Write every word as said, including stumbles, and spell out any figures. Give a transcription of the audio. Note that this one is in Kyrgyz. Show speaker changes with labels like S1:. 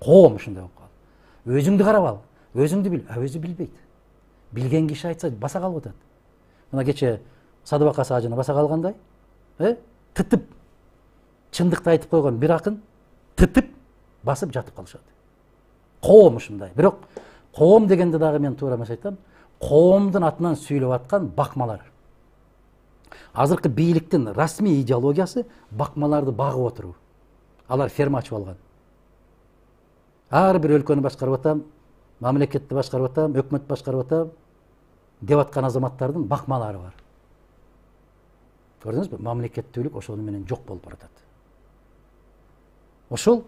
S1: Коом ушундай болуп калды. Өзүңдү карап ал, өзүңдү бил. А өзү билбейт. Билген киши айтса баса калып атат. Мына кече Садыбакас ажыны баса калгандай, э? Тытып чындыкты айтып койгон бир акын тытып басып жатып калышат. Коом ушундай. Бирок коом дегенде дагы мен туура эмес айтам. Коомдун атынан сүйлөп аткан бакмалар. Азыркы бийликтин расмий идеологиясы бакмаларды багып отуруу. Алар ферма ачып алган. Ар бир өлкөнү башкарып атам, мамлекетти башкарып атам, өкмөт башкарып атам деп аткан азаматтардын бакмалары бар. Көрдүңүзбү? Мамлекеттүүлүк ошону менен жок болуп баратат. Ошол